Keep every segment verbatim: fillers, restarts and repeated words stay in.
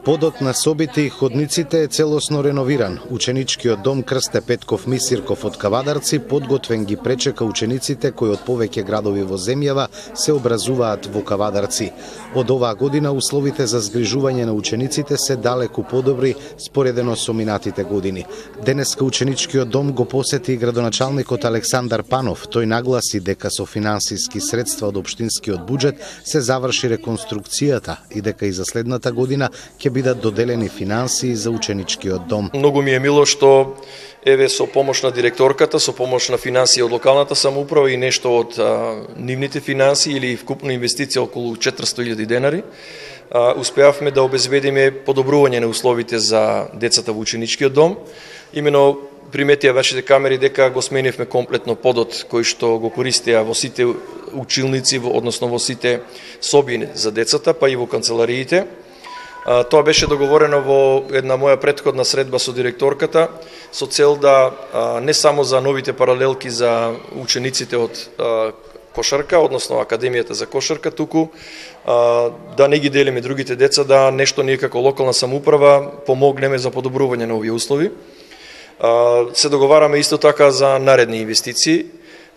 Подот на собите и ходниците е целосно реновиран. Ученичкиот дом Крсте Петков Мисирков од Кавадарци подготвен ги пречека учениците кои од повеќе градови во земјава се образуваат во Кавадарци. Од оваа година условите за згрижување на учениците се далеку подобри споредено со минатите години. Денеска ученичкиот дом го посети и градоначалникот Александар Панов. Тој нагласи дека со финансиски средства од општинскиот буџет се заврши реконструкцијата и дека и за следната година ќе бидат доделени финансии за ученичкиот дом. Многу ми е мило што еве со помош на директорката, со помош на финансии од локалната самоуправа и нешто од а, нивните финансии или вкупна инвестиција околу четиристотини илјади денари, а, успеавме да обезбедиме подобрување на условите за децата во ученичкиот дом. Имено приметија вашите камери дека го сменивме комплетно подот кој што го користеа во сите училници, односно во сите соби за децата, па и во канцелариите. Тоа беше договорено во една моја претходна средба со директорката со цел да не само за новите паралелки за учениците од кошарка, односно Академијата за кошарка, туку да не ги делиме другите деца, да нешто ние како локална самоуправа помогнеме за подобрување на овие услови. Се договараме исто така за наредни инвестиции.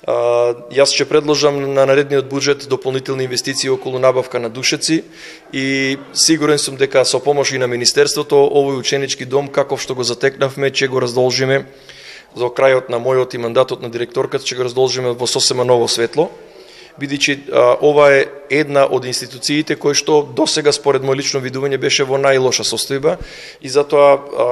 Јас ќе предложам на наредниот буџет дополнителни инвестиции околу набавка на душеци и сигурен сум дека со помош и на Министерството овој ученички дом, каков што го затекнавме, ќе го раздолжиме до крајот на мојот и мандатот на директорката, ќе го раздолжиме во сосема ново светло, бидејќи ова е една од институциите кои што досега според мој лично видување беше во најлоша состојба и затоа а,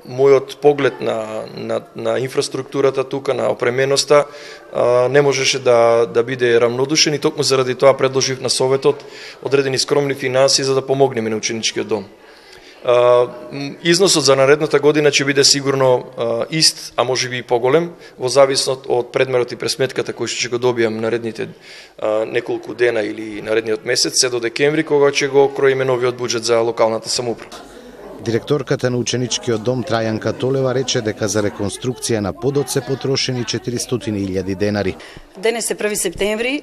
мојот поглед на, на, на инфраструктурата тука, на опременоста, а, не можеше да, да биде рамнодушен и токму заради тоа предложив на Советот одредени скромни финансии за да помогнеме на ученичкиот дом. Uh, износот за наредната година ќе биде сигурно uh, ист, а може би и поголем, во зависност од предмерот и пресметката кој што ќе го добијам наредните uh, неколку дена или наредниот месец, се до декември, кога ќе го кроиме новиот буџет за локалната самоуправа. Директорката на ученичкиот дом Трајанка Толева рече дека за реконструкција на подот се потрошени четиристотини илјади денари. Денес е први септември,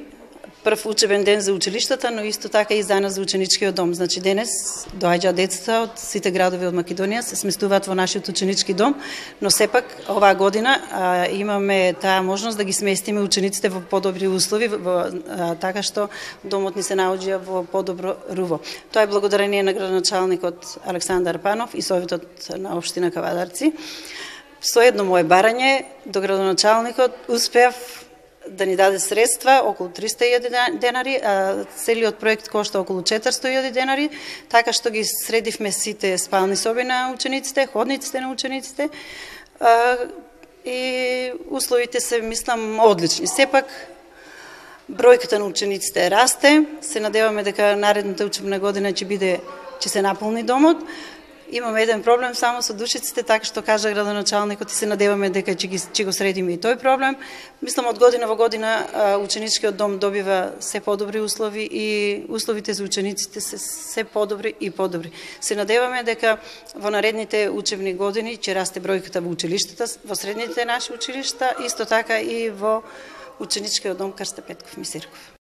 прв учебен ден за училиштата, но исто така и за нас за ученичкиот дом. Значи денес доаѓаат децата од сите градови од Македонија, се сместуваат во нашиот ученички дом, но сепак оваа година а, имаме таа можност да ги сместиме учениците во подобри услови, во, а, така што домот ни се наоѓа во подобро руво. Тоа е благодарение на градоначалникот Александар Панов и Советот на општина Кавадарци. Со едно мое барање до градоначалникот успеав да ни даде средства околу триста илјади денари, а целиот проект кошта околу четиристотини илјади денари, така што ги средивме сите спални соби на учениците, ходниците на учениците а, и условите се, мислам, одлични. Сепак, бројката на учениците расте, се надеваме дека наредната учебна година ќе биде, ќе се наполни домот. Имаме еден проблем само со душиците, така што кажа градоначалникот и се надеваме дека ќе, ги, ќе го средиме и тој проблем. Мислам, од година во година ученичкиот дом добива се подобри услови и условите за учениците се се подобри и подобри. Се надеваме дека во наредните учебни години ќе расте бројката во училиштата, во средните наши училишта, исто така и во ученичкиот дом Крсте Петков Мисирков.